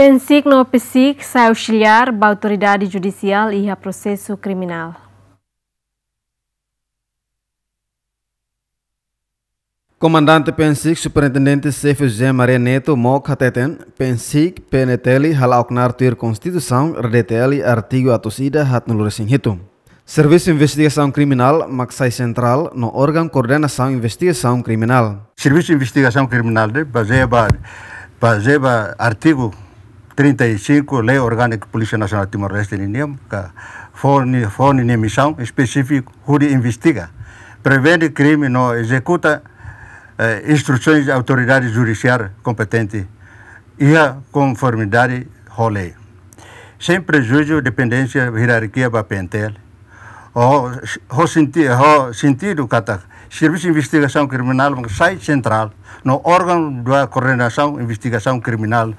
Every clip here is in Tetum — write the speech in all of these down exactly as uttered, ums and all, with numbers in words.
PNSIK no PSIK sai ausiliár ba autoridade judisiál iha prosesu kriminál. Komandante PNSIK, Superintendente Xefe José Maria Neto Mook hateten, PNSIK, PNTL hala'o knaar tuir Konstituisaun, RDTL, artigu atus ida haatnulu resin hitu. Servisu Investigasaun Kriminál mak sai sentrál no órgaun koordenasaun investigasaun kriminál. Servisu Investigasaun Kriminál ne'e bazeia ba, bazeia ba artigu trinta e cinco Lei Orgánика Polísia Nasionál Timor-Leste ninian, ka fó nia, fó nia misaun espesífiku hodi investiga, prevene krime no ezekuta, eh, instrusoens de autoridade judisiál kompetente iha konformidade ho lei, sein prejuízu dependénsia hierarkia ba PNTL. Ho, ho senti-, ho sentidu katak Servisu Investigasaun Kriminál mak sai sentrál no órgaun ba koordenasaun investigasaun kriminál,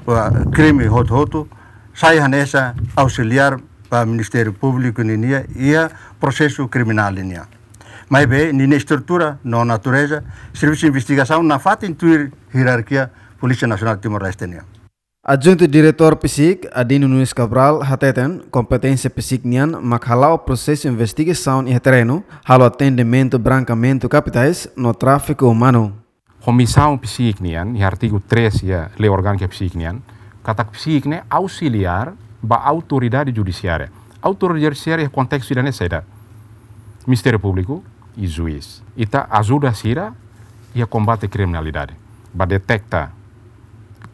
ba krime hotu-hotu, sai hanesan ausiliár ba Ministériu Públiku ninian iha prosesu kriminál ninian. Maibé ninia estrutura no natureza, servisu investigasaun nafatin tuir hierarkia Polísia Nasionál Timor-Leste nian. Adjuntu Diretór PSIK, Adino Nunes Cabral, hateten, kompeténsia PSIK nian mak hala'o prosesu investigasaun iha terrenu, halo atendimentu brankamentu kapitais no tráfiku umánu. Ho misaun PSIK nian, iha artigu três iha Lei Orgánика PSIK nian, katak PSIK ne'e ausiliár ba autoridade judisiária. Autoridade judisiária iha kontestu ida-ne'e saida? Ministériu Públiku i juís. Ita ajuda sira iha kombate kriminalidade, ba deteta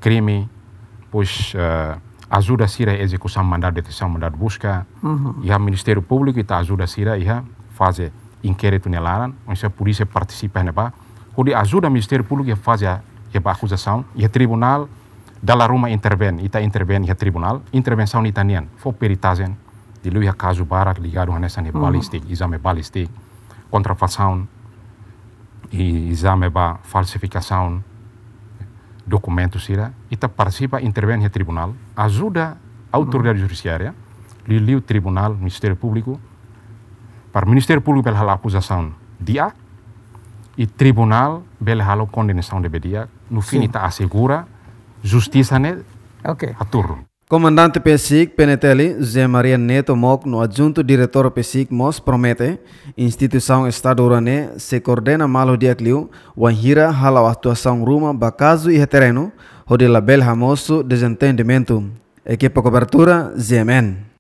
krime, depois, eh, ajuda sira ezekusaun mandadu detensaun, mandadu buska. Uhum. Iha Ministériu Públiku ita ajuda sira iha faze inkéritu nia laran, maibé polísia partisipa iha ne'ebá, hodi ajuda Ministériu Públiku iha faze, iha ba akuzasaun, iha tribunál dala ruma intervene, ita intervene iha tribunál, intervensaun ita-nian, fó peritajen, liuliu iha kazu barak ligadu hanesan iha, uhum, balístika, ezame balístika, kontrafasaun, i ezame ba falsifikasaun dokumentu sira, ita partisipa, intervene iha tribunál, ajuda autoridade, uhum, judisiária, liuliu tribunál, Ministériu Públiku, para Ministériu Públiku bele halo akuzasaun di'ak, i tribunál bele halo kondenasaun ne'ebé di'ak, no fim, sin, ita asegura justisa ne'e, ok, haturun. Komandante PSIK, PNTL, José Maria Neto Mook no Adjuntu Diretór PSIK mós promete, instituisaun Estadu rua ne'e sei koordena malu di'ak liu, wainhira hala'o atuasaun ruma ba kazu iha terrenu, hodi labele hamosu dezentendimentu. Ekipa kobertura, GMN.